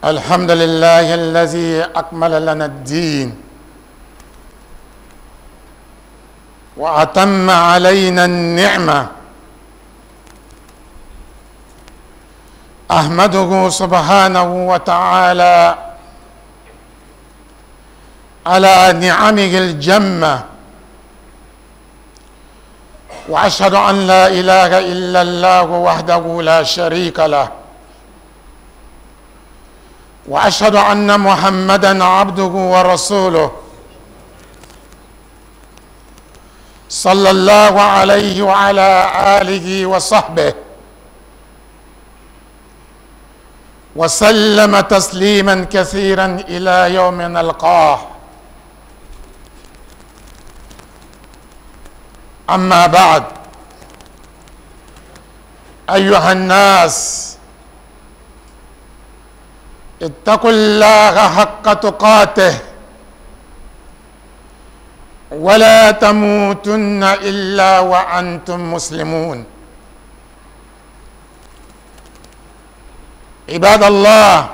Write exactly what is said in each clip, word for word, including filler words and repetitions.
الحمد لله الذي أكمل لنا الدين وأتم علينا النعمة. أحمده سبحانه وتعالى على نعمه الجمة، وأشهد أن لا إله إلا الله وحده لا شريك له، وأشهد أن محمدا عبده ورسوله صلى الله عليه وعلى آله وصحبه وسلم تسليما كثيرا إلى يوم نلقاه. أما بعد، أيها الناس، اتقوا الله حق تقاته ولا تموتن إلا وأنتم مسلمون. عباد الله،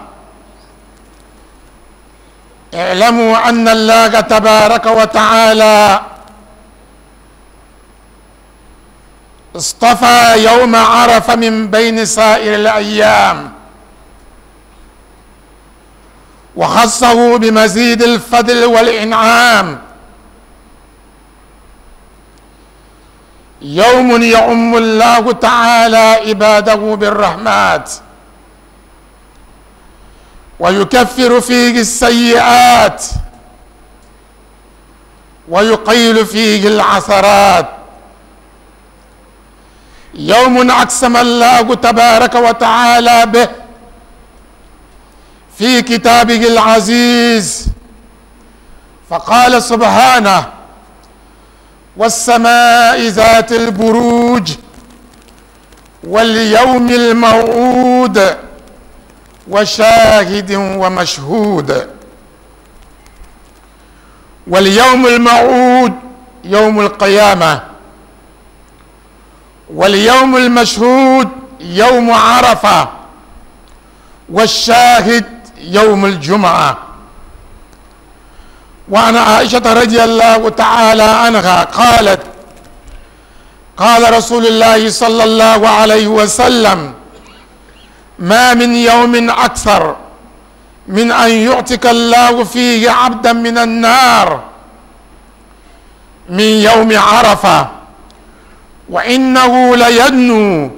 اعلموا أن الله تبارك وتعالى اصطفى يوم عرفة من بين سائر الأيام، وخصه بمزيد الفضل والإنعام. يوم يعم الله تعالى عباده بالرحمات ويكفر فيه السيئات ويقيل فيه العثرات. يوم أقسم الله تبارك وتعالى به في كتابه العزيز، فقال سبحانه: والسماء ذات البروج واليوم الموعود وشاهد ومشهود. واليوم الموعود يوم القيامة، واليوم المشهود يوم عرفة، والشاهد يوم الجمعة. وعن عائشة رضي الله تعالى عنها قالت: قال رسول الله صلى الله عليه وسلم: ما من يوم أكثر من أن يعتق الله فيه عبدا من النار من يوم عرفة، وإنه ليدنو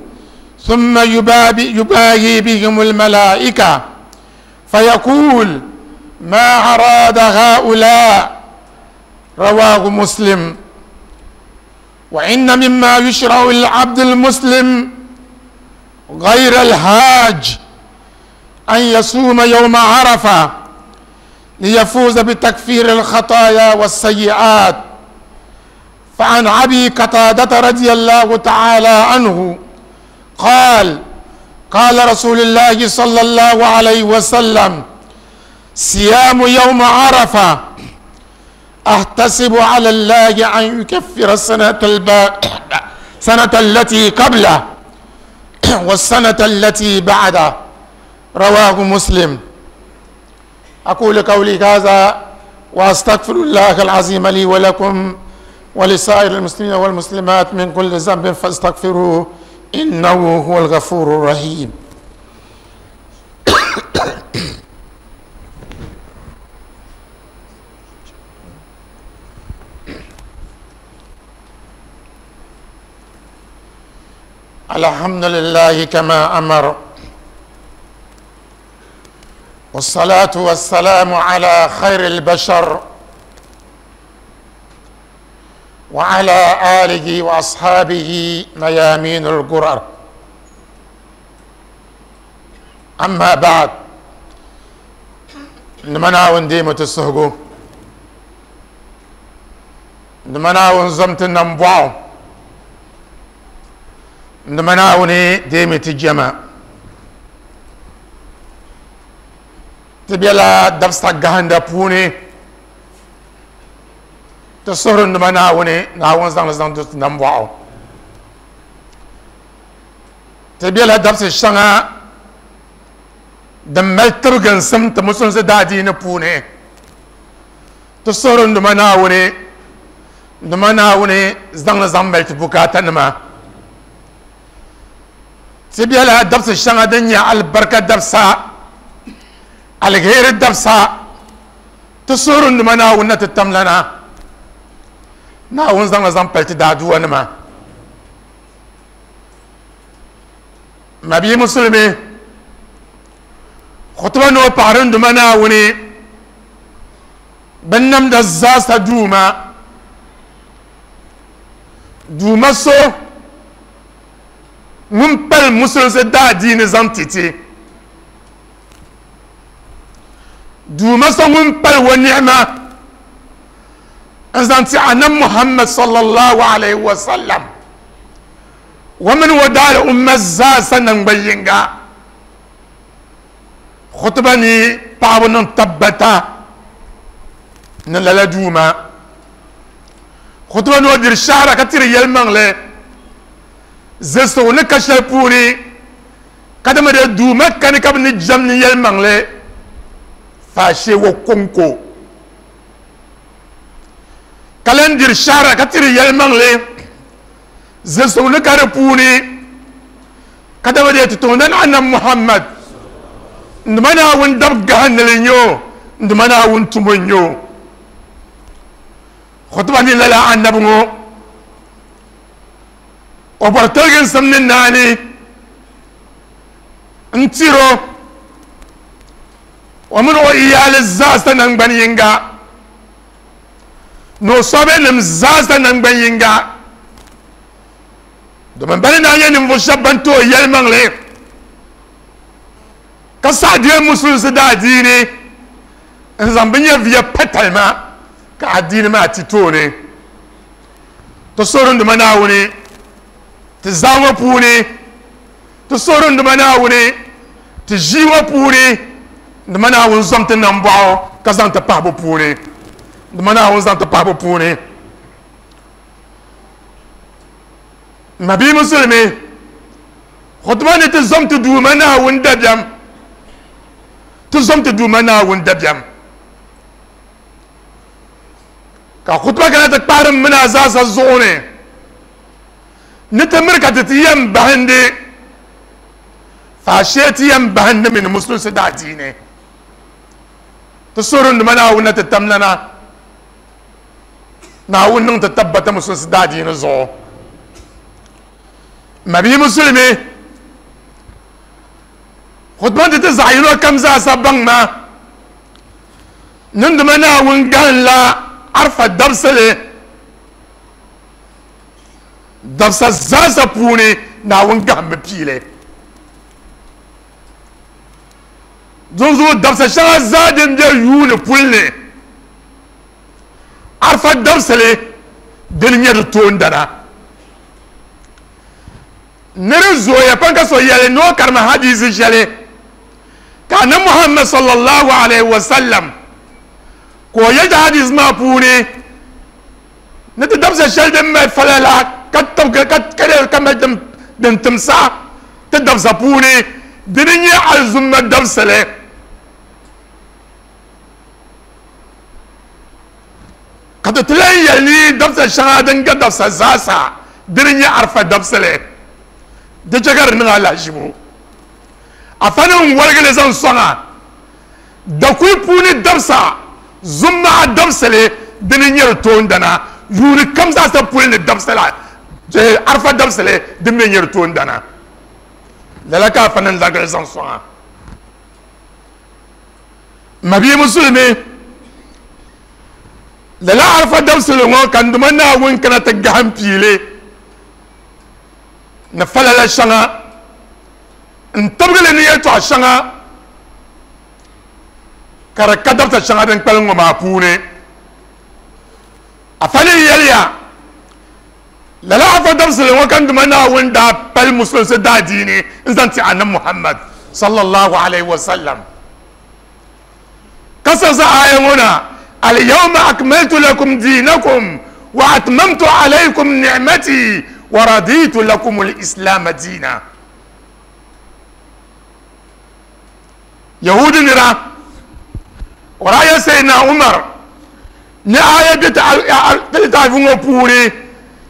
ثم يباهي بهم الملائكة فيقول: ما أراد هؤلاء؟ رواه مسلم. وإن مما يشرع للعبد المسلم غير الحاج أن يصوم يوم عرفة ليفوز بتكفير الخطايا والسيئات. فعن أبي قتادة رضي الله تعالى عنه قال: قال رسول الله صلى الله عليه وسلم: صيام يوم عرفة أحتسب على الله أن يكفر السنة الب... سنة التي قبله والسنة التي بعده. رواه مسلم. أقول قولي هذا وأستغفر الله العظيم لي ولكم ولسائر المسلمين والمسلمات من كل ذنب فاستغفروه إنه هو الغفور الرحيم. الحمد لله كما أمر، والصلاة والسلام على خير البشر وعلى آله وأصحابه ميامين الغرر. أما بعد، نمنا ونديمة السهجو، نمنا ونزمت النمبعو، نمنا وني ديمة الجماع تبيلا دبسا غهندا بوني تصور نما ناوني ناون زان زان دوت نمبواو تبيلا دبس شanga Din mali tibginsim ti musulinsi daadiini puuni ti suhuri n Duuma Naawuni n Duuma Naawuni zaŋli zaŋ mali ti bukaata nima ti bela dabsi shɛŋa din nyɛ alibarika dabsa alheri dabsa ti suhuri n Duuma Naawuni na ti tamlana Naawuni zaŋli zaŋ pali ti daaduwa nima mabii musulimi khutuba ni o paɣari n Duuma Naawuni bin namda zaasa duuma duuma so ŋun pali musulinsi daadiini zaŋ ti ti duuma so ŋun pali wa ni'ma n zaŋ ti annabi Muhammad sallallahu alaihi wa sallam wa mini o daali umma zaasa nangban yinga khutuba ni paɣabu niŋ tabbata ni lala duuma khutuba ni o diri shahara ka tiri yɛlimaŋli zilisigu ni ka shɛli puuni kadama de duuma kani ka bi ni jɛm ni yɛlimaŋli faashee wo konko ka lan diri shahara ka tiri yɛlimaŋli zilisigu ni ka di puuni kadama de ti toŋda ni annabi Muhammad n Duuma Naawuni dab gahinili n-nyɛ o n Duuma Naawuni tumo n-nyɛ o khutuba ni lala annabi ŋɔ o bɔri tiliginsim ni naani n tiro o mini o iyaali zaasa nangbani yinga ni o sɔbinim zaasa nangbani yinga domin bani naa nyɛ ninvuɣu shɛba ban ti o yɛlimaŋli ka saɣi deei musulinsi daadiini n zaŋ bi nyɛviya pa talima ka adiini maa ti tooni ti suhuri n Duuma Naawuni ti zaa ŋɔ puuni ti suhuri n Duuma Naawuni ti ʒii ŋɔ puuni n Duuma Naawuni zɔm ti nambɔɣu ka zaŋ ti pahibu puuni n Duuma Naawuni zaŋ ti pahibu puuni mabii musulimi khutuba ni ti zɔm ti Duuma Naawuni dabiɛm ti zɔm ti Duuma Naawuni dabiɛm ka khutuba kana ti kpahiri mini a zaasa zuɣu ni ni ti miri ka ti ti yɛn bahindi faashee ti yɛn bahindi mini musulinsi daadiini ti suhuri n Duuma Naawuni na ti tamlana Naawuni niŋ ti tabbata musulinsi daadiini zuɣu mabii musulimi khutuba ti ti zaɣ yino kam zaasa baŋ ma ni n Duuma Naawuni gahinla arfa dabsili dabsa zaasa puuni Naawuni gahimmi piili dinzuɣu dabsa shɛŋa zaa din be yuuni puli ni arfa dabsili dini nyɛ di toondana ni di zooya pam ka so yɛli ni o karima hadiisi shɛli ka annabi Muhammad sallallahu alaihi wa sallam ka o yɛli hadisi maa puuni ni ti dabsa shɛli din mali falala ka tibgi ka ka mali din din timsa ti dabsa puuni dini nyɛ alizumma dabsili ka ti ti lan yɛli ni dabsa shɛŋa din ga dabsa zaasa dini nyɛ arfa dabsili di chɛ ka di niŋ alahizibu afa ni n waligili zaŋ sɔŋa dakuli puuni dabsa zummaa dabsili dini nyɛ di toondana yuuni kam zaasa puli ni dabsila arfa dabsili din mi nyɛ di toondana lala ka afa ni n larigili zaŋ sɔŋa mabii musulimi lala arfa dabsili ŋɔ ka n Duuma Naawuni kana ti gahim piili ni falala shɛŋa n tibigili ni yɛltɔɣa shɛŋa ka di ka dabsa shɛŋa din kpalim ŋɔ maa puuni afa ni yɛliya lala afa dabsili ŋɔ ka n Duuma Naawuni daa pali musulinsi daadiini n zaŋ ti annabi Muhammad sallallahu alaihi wa sallam ka siɣisi aya ŋɔ na al-yawma akmaltu lakum dinakum wa atmamtu alaykum ni'mati wa raditu lakum al-islam dina Yahudi nira o daa yɛli Sayyidina Umar ni aya bɛ ti litaafi ŋɔ puuni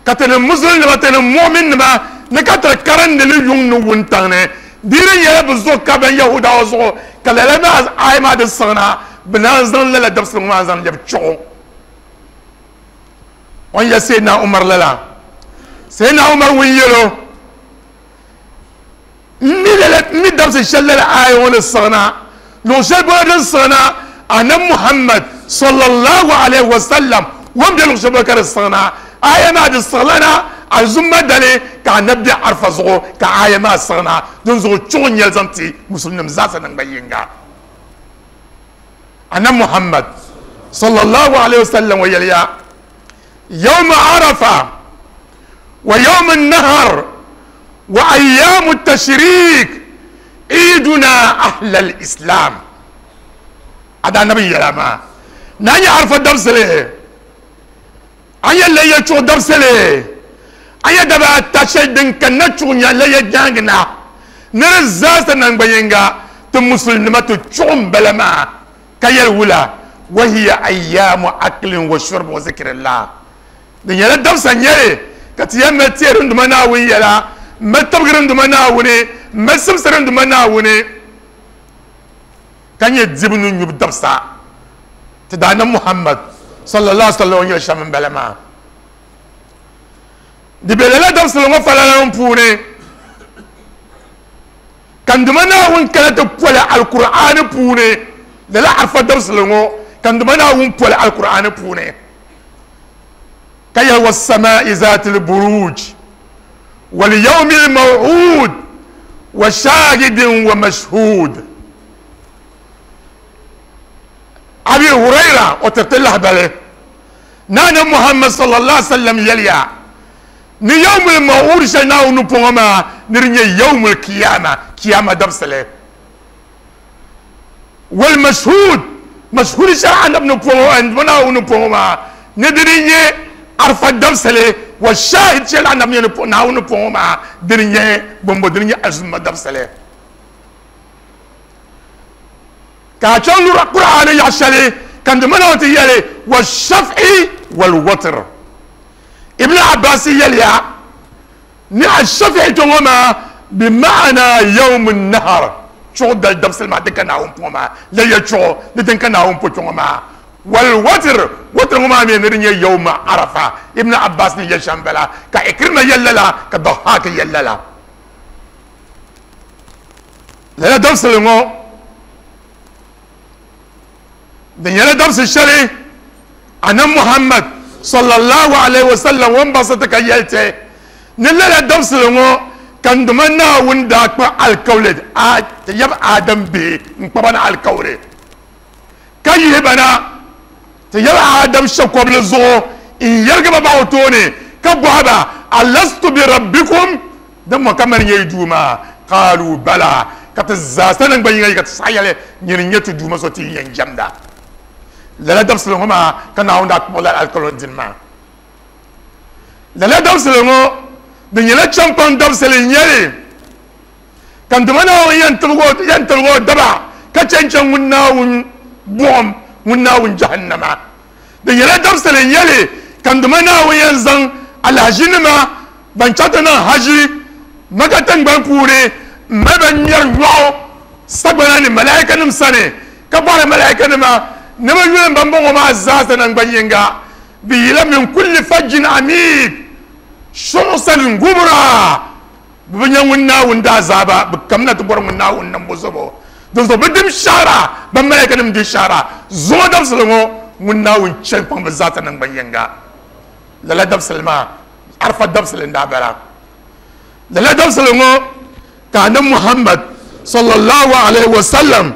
ka ti ni musulim nima ti ni mu'min nima ni ka ti karindi li yuŋ ni wuntaŋ ni di di nyɛla bi zuɣu ka ban Yahudawa zuɣu ka lala maa aya maa di siɣina bi naan zaŋ lala dabisili ŋɔ maa zaŋ lɛbi chuɣu o ni yɛli Sayyidina Umar lala Sayyidina Umar ŋun yɛlo n mi dabisi shɛli lala aya ŋɔ ni siɣina luɣu shɛli polo din siɣina annabi Muhammad sallallahu alaihi wasallam ŋun bɛ luɣu shɛli polo ka di siɣina aya maa di siɣila na Azumma dali ka annabi bɛ Arafa zuɣu ka aya maa siɣina din zuɣu chuɣu n nyɛli zaŋ ti musulnim zaasa naŋgban yinga annabi Muhammad sallallahu alaihi wasallam o yɛliya yawma Arafa wa yawma nahar wa ayyamu tashrik iduna ahlal islam ada annabi yɛla maa na nyɛ Arafa dabisili an yɛ layya chuɣu dabisili an yɛ daba ata shɛli din kanna chuɣu nya layya nyaangi na ni di zaasa naŋgban yinga ti musulinima ti chuɣu n bala maa ka yɛli wula wa hiya ayyamu aklin wa shurbi wa zikrillah di nyɛla dabisa nyɛli ka ti yɛn mali teeri n duma Naawuni yɛla n mali tibigiri n duma Naawuni n mali simsiri n duma Naawuni ka nyɛ dibu ni nyubu dabisa ti daa na Muhammad sallallahu alaihi wasallam yɛli shɛm n bala maa di bɛ lala dabisili ŋɔ falala ŋɔ puuni ka n duma Naawuni kana ti poli alkur'aani puuni lala Arafa dabisili ŋɔ ka n duma Naawuni poli alkur'aani puuni ka yɛli was-samaa'i zaatil buruj wal yawmil maw'ud wa shahidin wa mashhud Abi Hurayra o tiriti lahibali naana Muhammad sallallahu alaihi wasallam yɛliya ni yawmul maw'ud shɛli Naawuni pɔŋɔ maa ni di nyɛ yawmul kiyama kiyama dabisili wal mashhud mashhud shɛli anabi ni pɔŋɔ n Naawuni pɔŋɔ maa ni di di nyɛ Arafa dabisili wa shahid shɛli anabi nyɛ Naawuni pɔŋɔ maa di di nyɛ bombo di di nyɛ Azumma dabisili ka a chaŋ lura Qur'aani yaɣa shɛli ka n dima Naawuni ti yɛli wa shaf'i wal watr Ibn Abbas yɛliya ni a shafi'i tɔŋɔ maa bi ma'ana yawmun nahar chuɣu dali dabisili maa din ka Naawuni pɔŋɔ maa layya chuɣu ni din ka Naawuni po tɔŋɔ maa wal watr watr ŋɔ maa mi ni di nyɛ yawma Arafa Ibn Abbas ni yɛli shɛm bala ka Ikrima yɛli lala ka Dahak yɛli lala lala dabisili ŋɔ di nyɛla dabisi shɛli annabi Muhammad sallallahu alaihi wasallam ŋun baŋsi ti ka yɛli ti ni lala dabisili ŋɔ ka n duma Naawuni daa kpa alikawli ti yab Adam bihi n kpaba na alikawli ka yihi ba na ti yab Adam shɛkɔbili zuɣu n yɛrigi ba baɣa o tooni ka bɔhi ba alastu bi rabbikum din mo ka mani nyɛ yi duuma qaalu bala ka ti zaasa naŋgban yinga yi ka ti saɣa yɛli nyini n nyɛ ti duuma so ti yɛn jɛmda lala dabisili ŋɔ maa ka Naawuni daa kpuɣi lala alikawli dini maa lala dabisili ŋɔ di nyɛla champaŋ dabisili n nyɛli ka n duma Naawuni yɛn tiligi o daba ka chɛn chɛn ŋun Naawuni buɣum ŋun Naawuni jahannama di nyɛla dabisili n nyɛli ka n duma Naawuni yɛn zaŋ alahaʒinima ban chaŋ ti niŋ haji Maka tiŋgbani puuni n mali ba ŋmɛri nyɔɣu sagbana ni malaika nim sani ka bɔhiri malaika nima ni bi yuli ban bɔŋɔ maa zaasa naŋgban yinga bi yila min kulli fajjin amik shuɣusan gubra bi bi nyɛ ŋun Naawuni daazaaba bi kamina ti bɔri ŋun Naawuni nambo zuɣu din zuɣu bi dim shahara ban malaika nim di shahara zuŋɔ dabisili ŋɔ ŋun Naawuni chɛn kpaŋ bi zaasa naŋgban yinga lala dabisili maa Arafa dabisili n daa bala lala dabisili ŋɔ ka annabi Muhammad sallallahu alaihi wasallam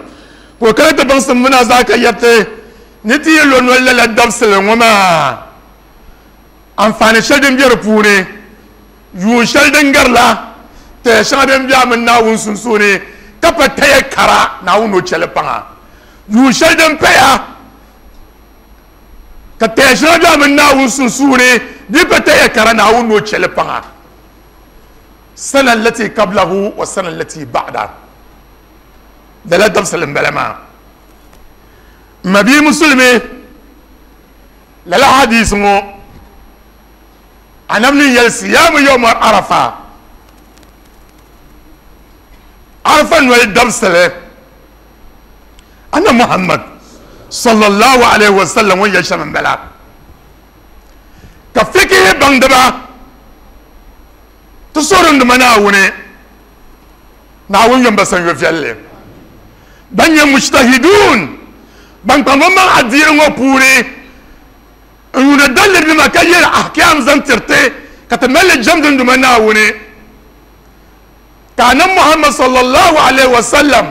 ka o kana ti baŋsim muna zaa ka yɛriti ni ti yi lo noli lala dabisili ŋɔ maa anfaani shɛli din bɛ di puuni yuun shɛli din garila taya shɛŋa din bɛ a mini Naawuni sunsuuni ka pa taya kara Naawuni ni o chɛli paŋa yuun shɛli din paya ka taya shɛŋa bɛ a mini Naawuni sunsuuni di pa taya kara Naawuni ni o chɛli paŋa sana allati qablahu wa sana allati ba'da Lala dabsili n bala maa ma bia musulimi lala hadisi ŋɔ annabi ni yɛli siyamu yawma arafa arafa noli dabsili anna Muhammad sallallahu alaihi wasallam ŋun yɛli shɛm n bala ka fikihi baŋdiba ti soorindima Naawuni Naawuni yɔn ba sanyo viɛlli ban nyɛ mujtahidun ban kpaŋ bɛ maŋ adiini ŋɔ puuni n yuuni dalirinima ka yɛli ahkam zaŋ tiriti ka ti mali jɛmdinduma Naawuni ka annabi Muhammad sallallahu alaihi wasallam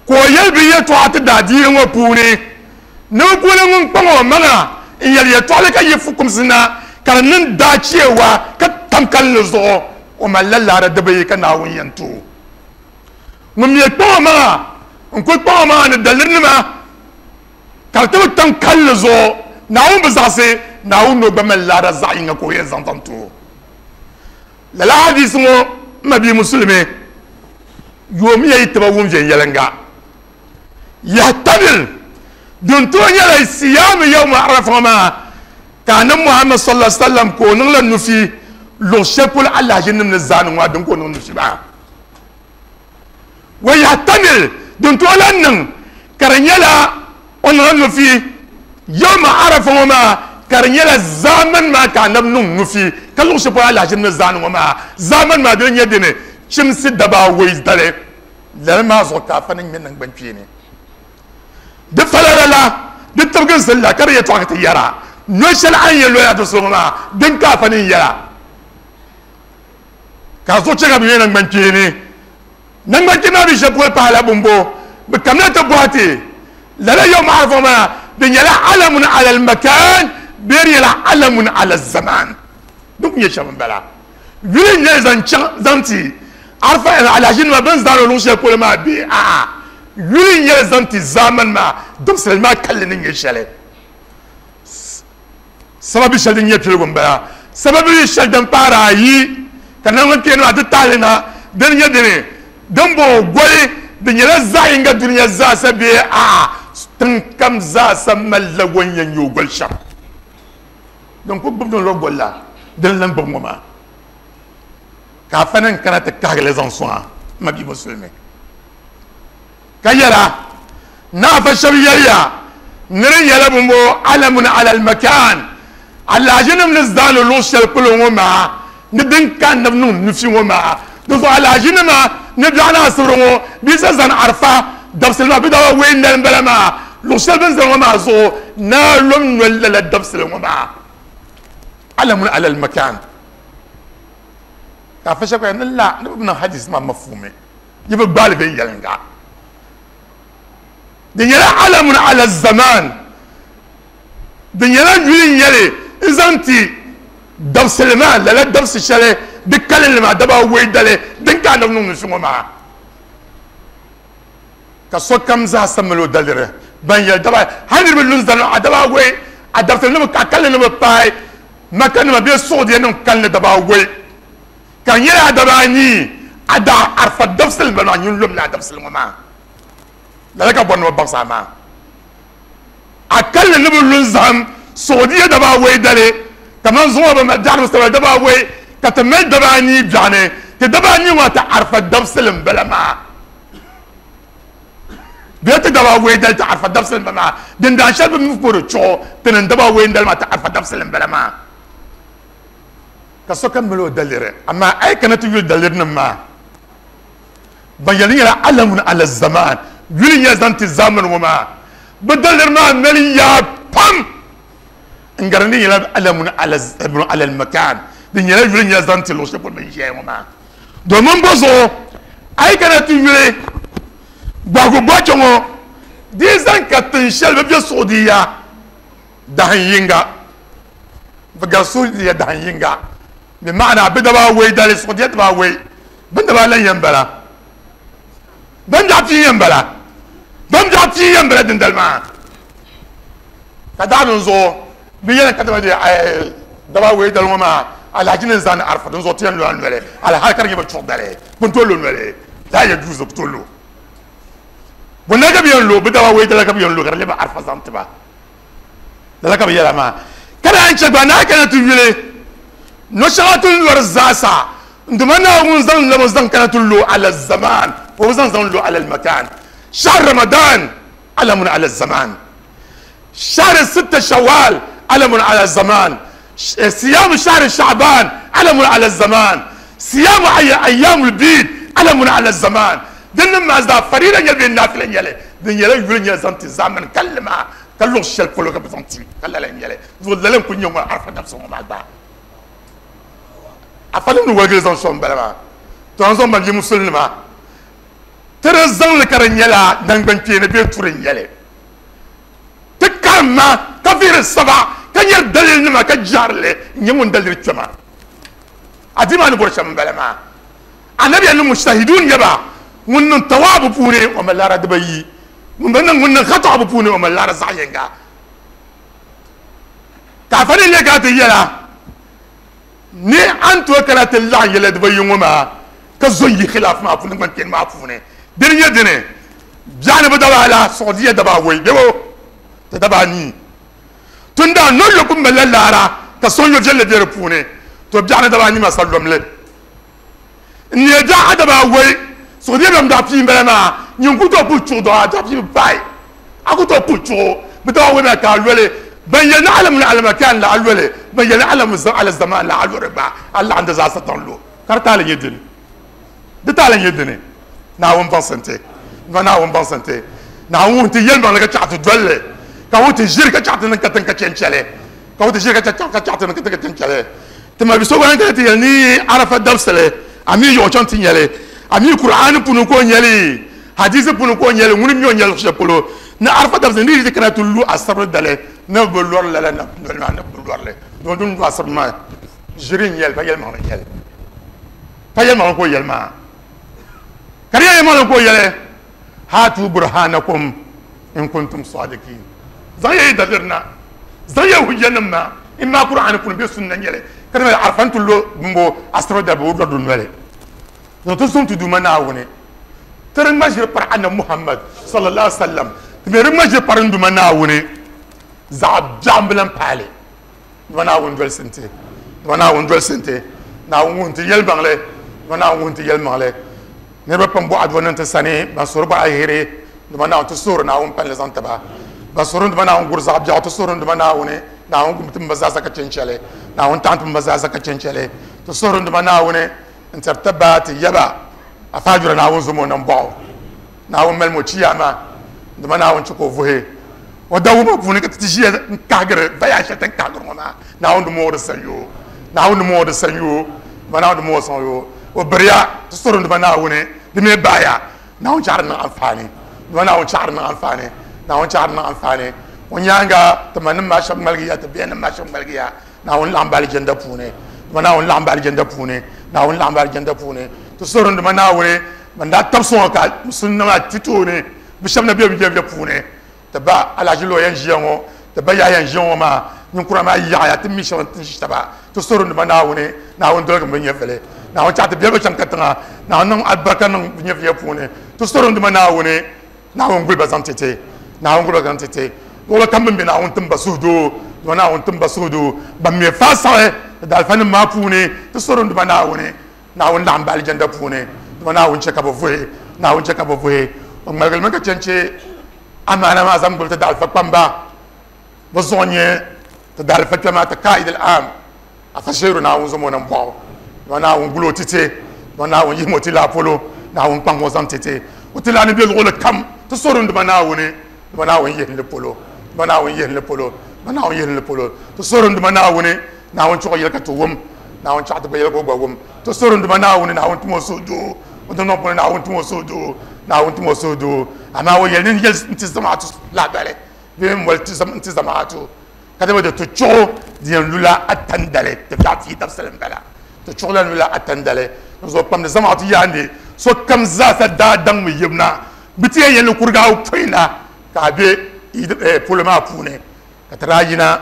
ka o yɛli bi yɛltɔɣa ti daa diini ŋɔ puuni ni bi puuni ŋun kpaŋ o maŋa n yɛli yɛltɔɣali ka yi fukumsi na ka di niŋ daa cheewa ka tam kalinli zuɣu o malila laara dibayi ka Naawuni yɛn ti o ŋun mi kpaŋ o maŋa n kuli kpaŋ o maŋa ni dalirinima ka di ti bi tam kalinli zuɣu Naawuni bi zaɣisi Naawuni ni o gba mali laara zaɣ yinga ka o yɛn zaŋ zaŋ ti o lala hadisi ŋɔ n ma bia musulimi yoomiya yi tiba wum viɛnyɛliŋga yahtamil din tooi nyɛla siyamu yawma arafa ŋɔ maa ka annabi Muhammad sallallahu alaihi wasallam ka o niŋla nufi luɣ shɛli polo alahiʒinim ni zaani ŋɔ din ka o niŋ nufi maa wa yahtamil din tooi lan niŋ ka di nyɛla o niŋla nufi yawma arafa ŋɔ maa ka di nyɛla zaamani maa ka annabi niŋ nufi ka luɣ shɛli polo alahiʒinim ni zaani ŋɔ maa zaamani maa dini nyɛ dini chimsi daba awei dali lala maa zuɣu ka afa ni ŋmɛ naŋgban kpeeni di falala la di tibginsi la ka di yɛltɔɣa ka ti yɛra no shɛli a ni yɛn loya ti so ŋɔ maa din ka afa ni yɛra ka zuɣu chɛ ka bi ŋmɛ naŋgban kpeeni naŋgban kpeeni maa bi shɛli polo pahala bumbo bi kamina ti bɔhi ti lala yawma arafa maa di nyɛla alamun ala almakan bee di nyɛla alamun ala zaman din ku nyɛ shɛm n bala yuli n nyɛli zaŋ chaŋ zaŋ ti arafa alahaʒinima bin zaani o luɣ shɛli polo maa bee a'a yuli n nyɛli zaŋ ti zaamani maa dabisili maa kalli ni nyɛ shɛli sababi shɛli din nyɛ piligu n bala sababi shɛli din paari ayi ka naŋgban kpeeni maa ti tahali na din nyɛ dini din bɔŋɔ goli di nyɛla zaɣ yinga duniya zaasa bee a'a tiŋ kam zaasa malila o ni yɛn nyɛ o goli shɛm din ku gbubi din lo goli la din lan gbubi ŋɔ maa ka afa ni kana ti kahigili zaŋ sɔŋa ma bia musulimi ka yɛla na afa shɛba yɛliya ni di nyɛla bumbo alamun ala almakan alahaʒinim ni zaani luɣ shɛli polo ŋɔ maa ni din ka annabi niŋ nufi ŋɔ maa di zuɣu alahaʒinima ni biɛɣu ni asibiri ŋɔ bia sa zani arafa dabisili maa bi daa wei noli n bala maa luɣ shɛli bin zani ŋɔ maa zuɣu naa lom noli lala dabisili ŋɔ maa alamun ala almakan ka afa shɛba ni la ni bi niŋ hadisi maa mafhumi yi bi gbaali viɛnyɛliŋga di nyɛla alamun ala zaman di nyɛla yuli n nyɛli n zaŋ ti dabisili maa lala dabisi shɛli di kalinli maa daba awei dali din ka annabi niŋ nufi ŋɔ maa ka sokam zaasa mali o daliri ban yɛli daba hali niriba lu n zani a daba awei a dabisili ni bi a kalinli ni bi paai Maka nima bee Saudiya nim kalinli daba awei ka di nyɛla a daba anii a daa arafa dabisili n bala maa nyin lomla a dabisili ŋɔ maa lala ka bɔri ni bi baŋsi a maa a kalinli ni bi lu n zahim Saudiya daba awei dali kamani zuŋɔ bi mali biɛɣuni bi sabila daba awei ka ti mali daba anii biɛɣuni ti daba anii ŋɔ ti arafa dabisili n bala maa bee ti daba awei dali ti arafa dabisili n bala maa din daa shɛli bi mi pori chuɣu ti niŋ daba awei dali maa ti arafa dabisili n bala maa ka sokam mali o daliri amaa a yi kana ti yuli daliri nim maa ban yɛli nyɛla alamun ala zaman yuli nyɛla zaŋ ti zamani ŋɔ maa bi daliri maa mali yaa pam n gari ni nyɛla alamun ala almakan di nyɛla yuli nyɛla zaŋ ti luɣ shɛli polo bin ʒiya ŋɔ maa domin bɔ zuɣu a yi kana ti yuli gbahigu bɔchi ŋɔ di zaŋ ka tin shɛli bi bɛ Saudiya dahin yinga bi gari Saudiya dahin yinga bi maana bi daba awei dali Saudiya daba awei bin daba lan yɛn bala bin biɛɣu pii yɛn bala bin biɛɣu pii yɛn bala dindali maa ka daɣa zuɣu bi yɛn ka daba daba awei dali ŋɔ maa alhaji ni zaani arafa din zuɣu ti yɛn lo a noli alhali ka di nyɛ bi chuɣu dali bin tooi lo noli La yajuzu kutulu bonna ka bi yɛn lo bi daba wei dala ka bi yɛn lo ka di lɛbi arafa zaŋ tiba lala ka bi yɛla maa ka naan chɛ gba naa kana ti yuli no shɛŋa ti lori zaasa nduma Naawuni zaŋ lami zaŋ kana ti lo ala zaman o bi zaŋ zaŋ lo ala makan shahr Ramadan alamun ala zaman shahr sitta Shawwal alamun ala zaman siyam shahr Sha'ban alamun ala zaman siyam ayyamul bid alamun ala zaman din maa zaa farida nyɛla bee naafila nyɛli din nyɛla yuli nyɛla zaŋ ti zamani kalli maa ka luɣu shɛli polo ka bi zaŋ ti ka lala n-nyɛli zuɣu lala n-kuli nyɛ ŋɔ arafa dabisa ŋɔ maa gba afa nim ni waligili zaŋ sɔŋ bala maa to an zaŋ ban bɛ musulinima ti di zaŋli ka di nyɛla nangbani kpeeni bee turi n-nyɛli ti karimma ka vihiri saba ka nyɛri dalili nima ka jaarili n-nyɛ ŋun daliri kpɛma a di maa ni bɔri shɛm n-bala maa anabi ni mujtahidun nyɛba ŋun niŋ tawaabu puuni o mali laara dibayi ŋun bi niŋ ŋun niŋ khataabu puuni o mali laara zaɣ yinga ka afa ni leei ka ti yɛla ni an tooi kana ti laɣim yɛla dibayi ŋɔ maa ka zo n yi khilaaf maa puuni ŋman kpɛni maa puuni dini nyɛ dini biɛɣuni bi daba ala Saudiya daba awoi bebo ti daba anii tunda no yo pun malila laara ka sɔŋ yo viɛlli be di puuni to biɛɣuni daba anii maa sa lomli n neei biɛɣu a daba awoi Saudiya bɛm daa pii n bala maa nyin ku tooi puhi chuɣu dɔɣa a daa pii bi paai a ku tooi puhi chuɣu bi daba awoi maa ka a loli ban yɛli ni alamu ni alamakan la a loli ban yɛli ni alamu ala zaman la a lori gba a laɣim di zaa sataŋ lo ka di taali nyɛ dini di taali nyɛ dini Naawuni baŋsim ti nua Naawuni baŋsim ti Naawuni wuhi ti yɛlimaŋli ka chaɣ ti dolli ka wuhi ti ʒiri ka chaɣ ti niŋ katiŋ ka chɛnchɛli ka wuhi ti ʒiri ka chaɣ ti niŋ katiŋ ka chɛnchɛli ti ma bi so gba kana ti yɛli ni arafa dabisili a mi yuɣu chaŋ ti nyɛli a mi Kur'aani puuni ka o nyɛli hadisi puuni ka o nyɛli ŋuni mi o nyɛli shɛli polo ni arafa dabisili ni di kana ti lu asibiri dali ni bi lɔri lala na noli maa ni bi lɔrili don din lu asibiri maa ʒiri n nyɛli pa yɛlimaŋli n nyɛli pa yɛlimaŋli ka o yɛli maa ka di yɛlimaŋli ka o yɛli hatu burhanakum in kuntum sadiqin zaŋ ya yi daliri na zaŋ ya hujjanima maa in maa Kur'aani puuni bee sunna nyɛli ka di mali arafa n ti lo bimbo asibiri dali bi lɔri di noli zaŋ ti suŋ ti Duuma Naawuni ti di ŋma ʒiri pari Annabi Muhammad sallallahu alaihi wasallam ti mi di ŋma ʒiri pari n Duuma Naawuni zaɣ biɛɣu n bi lan paali Duuma Naawuni dolisi n ti Duuma Naawuni dolisi n ti Naawuni wuhi n ti yɛlimaŋli Duuma Naawuni wuhi n ti yɛlimaŋli niriba pam bɔɣa dua niŋ ti sani ban suhuri bɔri alheri Duuma Naawuni ti suhuri Naawuni palli zaŋ tiba ban suhuri Duuma Naawuni guri zaɣ biɛɣu ti suhuri Duuma Naawuni Naawuni gum timba zaasa ka chɛnchɛli Naawuni taɣim timba zaasa ka chɛnchɛli ti suhuri Duuma Naawuni n tiri taba ti yaba afaajura Naawuni zumo nam bɔɣu Naawuni malimi o chiyaama Duuma Naawuni chɛ ka o vuhi o dawuma puuni ka ti ti ʒiya n kahigiri baya shɛli ti ni kahigiri ŋɔ maa Naawuni di mooi di sanyoo Naawuni di mooi di sanyoo Duuma Naawuni di mooi sanyoo o biriya ti suhuri Duuma Naawuni di mi baaya Naawuni chaɣiri niŋ anfaani Duuma Naawuni chaɣiri niŋ anfaani Naawuni chaɣiri niŋ anfaani o nyaanga ti ma nim maa shɛba ŋmaligiya ti bihi nim maa shɛba ŋmaligiya Naawuni laɣim ba alijanda puuni Duuma Naawuni laɣim ba alijanda puuni Naawuni laɣim ba alijanda puuni ti suhuri Duuma Naawuni ban daa tabi sɔŋɔ ka musulin maa ti tooni bi shɛba na be bi nyɛviya puuni ti ba Alhaji Lɔya n ʒiya ŋɔ ti ba Yahaya n ʒiya ŋɔ maa ninkura maa yaɣaya ti mi shɛba n ti ʒi taba ti suhuri Duuma Naawuni Naawuni doligi bi nyɛvili Naawuni chaɣ ti biɛli bi chaŋ katiŋa Naawuni niŋ alibarika niŋ bi nyɛviya puuni ti suhuri Duuma Naawuni Naawuni guli ba zaŋ ti ti Naawuni guli ba zaŋ ti ti luɣuli kam bin be Naawuni tim ba suhudoo Duuma Naawuni tim ba suhudoo ban mi faasaɣi ti daalifa nim maa puuni ti suhuri Duuma Naawuni Naawuni laɣim ba alijanda puuni Duuma Naawuni chɛ ka bi vuhi Naawuni chɛ ka bi vuhi o ŋmaligilimi ka chɛnchɛ amaana maa zaŋ gbubi ti daalifa kpamba bi zuɣu nyɛ ti daalifa kpɛma ti kaid al-am afa sheeru Naawuni zumo nam bɔɣu Duuma Naawuni guli o titi Duuma Naawuni yihimi o ti laa polo Naawuni kpaŋ o zaŋ titi o ti laa ni be luɣuli kam ti suhuri Duuma Naawuni Duuma Naawuni yihim li polo Duuma Naawuni yihim li polo Duuma Naawuni yihim li polo ti suhuri Duuma Naawuni Naawuni chuɣu yɛli ka ti wum Naawuni chaɣ ti gba yɛli ka o gba wum ti suhuri Duuma Naawuni Naawuni tim o suhudoo o dundɔŋ puuni Naawuni tim o suhudoo Naawuni tim o suhudoo amaa o yɛli ni yɛli n ti zamaatu lahabali bee n moli n ti zamaatu ka di ti chuɣu di yɛn lula atandali ti biɛɣu pii dabisili n bala ti chuɣu la lula atandali n zuɣu kpamdi zamaatu yaandi so kam zaasa daa daŋ mi yibna bi ti yɛn yɛli ni kuriga awopɔin na ka a be polo maa puuni ka ti daa yina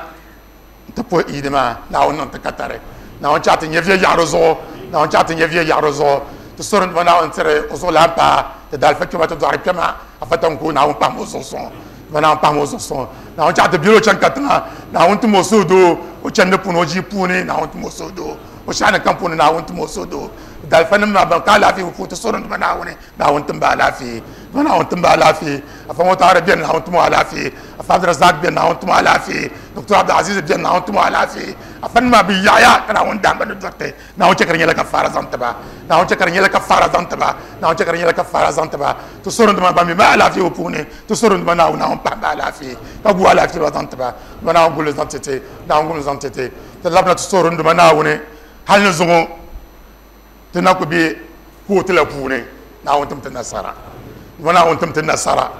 n ti puhi Eid maa Naawuni niŋ ti katari Naawuni chaɣ ti nyɛviya yaɣari zuɣu Naawuni chaɣ ti nyɛviya yaɣari zuɣu Ti sori n Naawuni tiri o zuɣulan paa ti daalifa kpɛma ti dɔɣiri kpɛma afa tanko Naawuni pahimi o zuɣu sɔŋ Naawuni pahimi o zuɣu sɔŋ Naawuni chaɣ ti beli o chaŋ katiŋa Naawuni tim o suhudoo o chandi puuni o ʒii puuni Naawuni tim o suhudoo o shɛɣuni kam puuni Naawuni tim o suhudoo daalifa nim maa ban ka alaafee bi puuni ti sori n dima Naawuni Naawuni tim ba alaafee dima Naawuni tim ba alaafee afa ŋɔ taɣari beni Naawuni tim o alaafee afa Abdurazak beni Naawuni tim o alaafee Doctor Abdulaziz beni Naawuni tim o alaafee afa nim maa bi yaɣaya ka Naawuni dahimba ni dɔriti Naawuni chɛ ka di nyɛla kafaara zaŋ ti ba Naawuni chɛ ka di nyɛla kafaara zaŋ ti ba Naawuni chɛ ka di nyɛla kafaara zaŋ ti ba ti sori n dima ban mi ma alaafee bi puuni ti sori n dima Naawuni Naawuni pahim ba alaafee ka gu alaafee ba zaŋ ti ba dima Naawuni guli zaŋ ti ti Naawuni guli zaŋ ti ti ti labina ti sori n dima Naawuni hali ni zuŋɔ ti na ku be kootu la puuni Naawuni tim ti nasara dima Naawuni tim ti nasara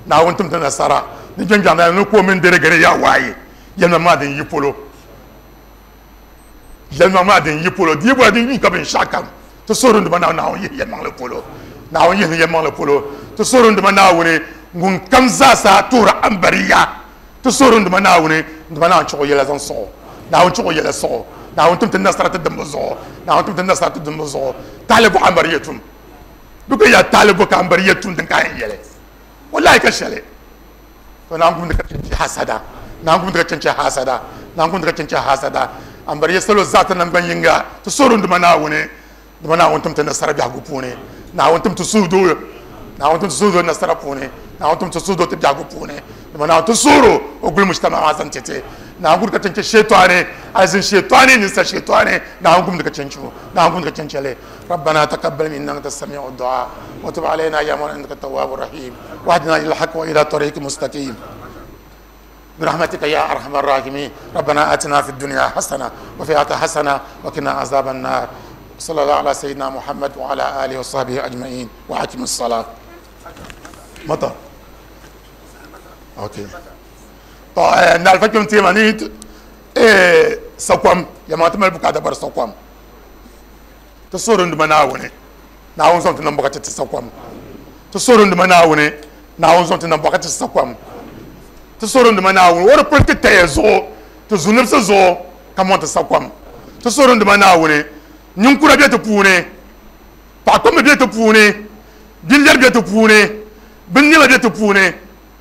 Naawuni tim ti nasara ni jɛnjɛŋ ni ko mini deregere yaa waaye yɛlima maa din yi polo yɛlima maa din yi polo di bɔra din yuui ka binshaɣu kam ti sori n dima Naawuni yihi yɛlimaŋli polo Naawuni yihi yɛlimaŋli polo ti sori n dima Naawuni ŋun kam zaasa tuhiri ambariya ti sori n dima Naawuni n dima Naawuni chuɣu yɛla zaŋ sɔɣo Naawuni chuɣu yɛla sɔɣo Naawuni tim ti nasara ti dimbu zuɣu Naawuni tim ti nasara ti dimbu zuɣu tahali bɔ ambariya tum duka ya tahali bɔ ka ambariya tum din ka yɛn yɛli wallahi ka shɛli to Naawuni gumdi ka chinchi hasada Naawuni gumdi ka chinchi hasada Naawuni gumdi ka chinchi hasada ambariya salo zaata nangban yinga ti sori n dima Naawuni dima Naawuni tim ti nasara biɛhigu puuni Naawuni tim ti suhudoo Naawuni tim ti suhudoo nasara puuni Naawuni tim ti suhudoo ti biɛhigu puuni dima Naawuni ti suhuro o guli mujtama maa zaŋ ti ti Naawuni gumdi ka chinchi shetani alizin shetani ninsa shetani Naawuni gumdi ka chinchi o Naawuni gumdi ka chinchi li ربنا تقبل منا انك السميع الدعاء وتب علينا يا مولانا انك التواب الرحيم واهدنا الى الحق والى طريق مستقيم برحمتك يا ارحم الراحمين ربنا اتنا في الدنيا حسنه وفي الاخره حسنه وقنا عذاب النار صلى الله على سيدنا محمد وعلى اله وصحبه اجمعين واقم الصلاه مطر اوكي طيب نالفكم تيمانيت ايه سقوم يا ما تمل بكاتا بر سقوم ti sori n dima Naawuni Naawuni zaŋ ti niŋ bɔkati ti sakom ti sori n dima Naawuni Naawuni zaŋ ti niŋ bɔkati ti sakom ti sori n dima Naawuni o di pili ti taya zuɣu ti zunibsi zuɣu ka mɔŋ ti sakom ti sori n dima Naawuni ninkura be ti puuni paɣakpamba be ti puuni binlɛri be ti puuni binnɛma be ti puuni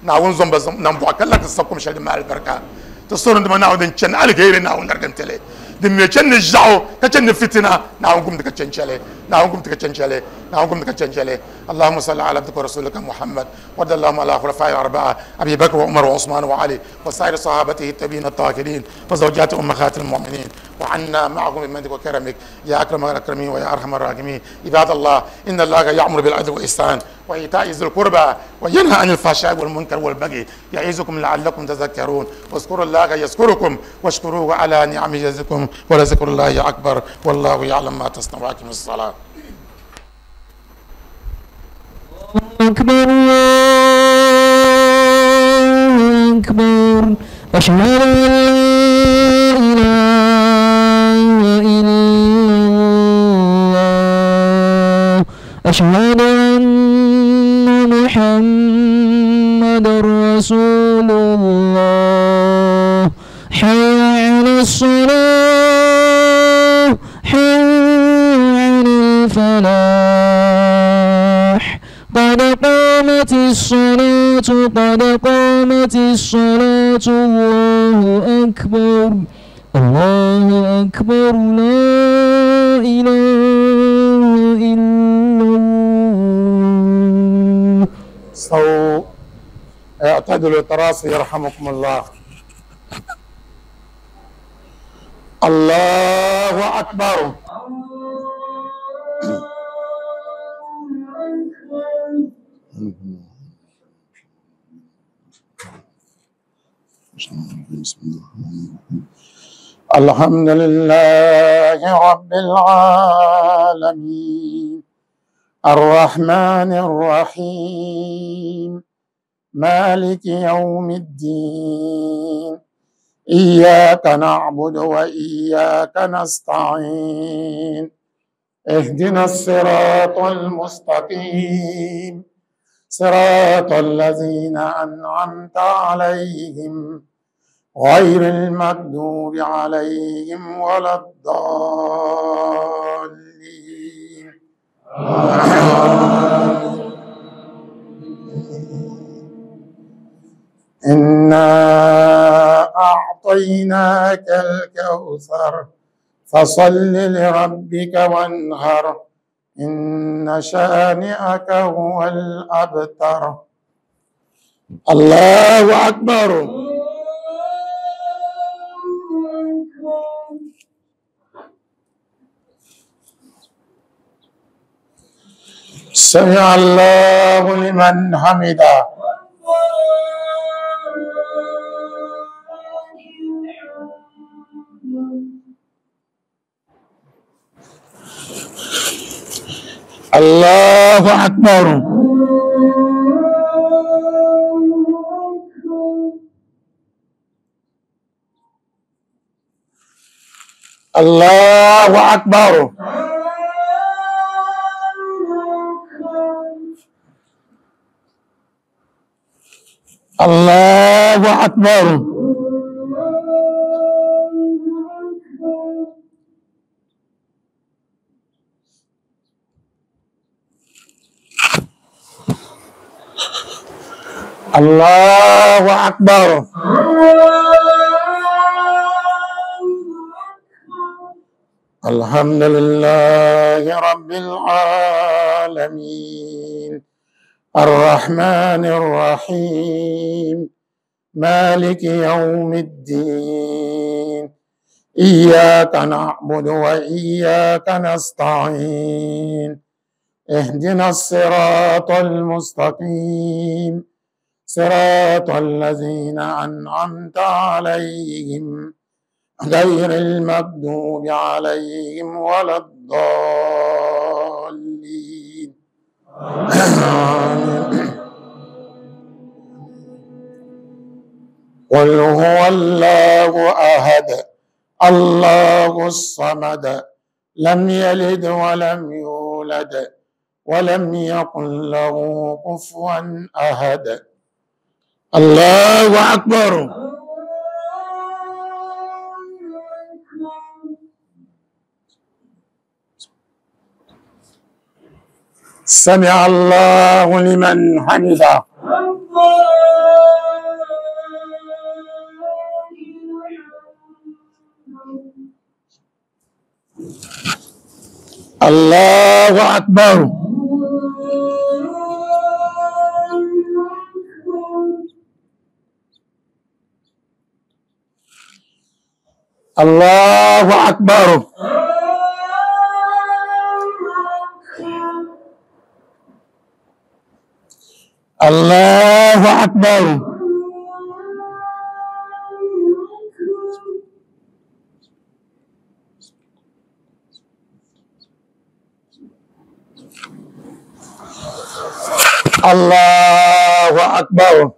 Naawuni zaŋ ba niŋ bɔɣa ka la ti sakom shɛli din mali alibarika ti sori n dima Naawuni din chani aliheri Naawuni larigi n-ti li din mi chani ni ʒiɛɣu ka chani ni fitina Naawuni gumdi ka chencheli Naawuni gumdi ka chencheli Naawuni gumdi ka chencheli اللهم صل على عبدك ورسولك محمد وارض اللهم على خلفاء الأربعة أبي بكر وعمر وعثمان وعلي وسائر صحابته التابعين الطاهرين وزوجات أمهات المؤمنين وعنا معهم بمنك وكرمك يا أكرم الأكرمين ويا أرحم الراحمين. عباد الله إن الله يأمر بالعدل والإحسان وإيتاء ذي القربى وينهى عن الفحشاء والمنكر والبغي يعظكم لعلكم تذكرون. واذكروا الله يذكركم واشكروه على نعمه يزدكم ولذكر الله أكبر والله يعلم ما تصنعون. وأقيموا الصلاة. أكبر الله أكبر أشهد أن لا إله إلا الله أشهد أن محمدا رسول الله حي على الصلاة حي على الفلاح قد قامت الصلاة قد قامت الصلاة الله أكبر الله أكبر لا إله إلا الله. استووا اعتدلوا تراصوا يرحمكم الله. الله أكبر. الحمد لله رب العالمين الرحمن الرحيم مالك يوم الدين إياك نعبد وإياك نستعين اهدنا الصراط المستقيم صراط الذين أنعمت عليهم غير المغضوب عليهم ولا الضالين. إنا أعطيناك الكوثر فصل لربك وانهر إن شانئك هو الأبتر. الله أكبر. سمع الله لمن حمده. الله أكبر. الله أكبر. الله أكبر. الله أكبر. الحمد لله رب العالمين الرحمن الرحيم مالك يوم الدين إياك نعبد وإياك نستعين اهدنا الصراط المستقيم صراط الذين أنعمت عليهم غير المغضوب عليهم ولا الضالين. قل هو الله أحد الله الصمد لم يلد ولم يولد ولم يكن له كفوا أحد. الله أكبر. سمع الله لمن حمده. الله أكبر. الله أكبر. الله أكبر. الله أكبر.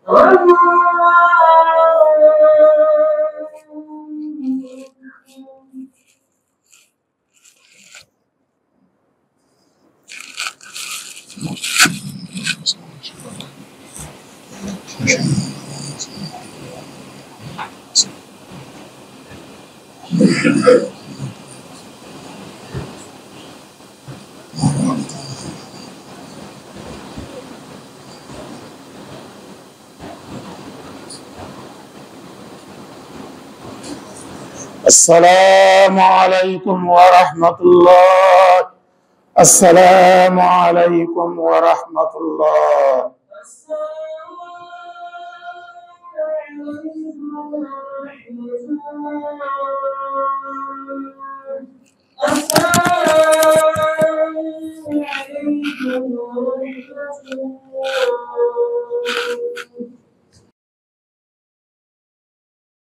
السلام عليكم ورحمة الله. السلام عليكم ورحمة الله. السلام عليكم ورحمة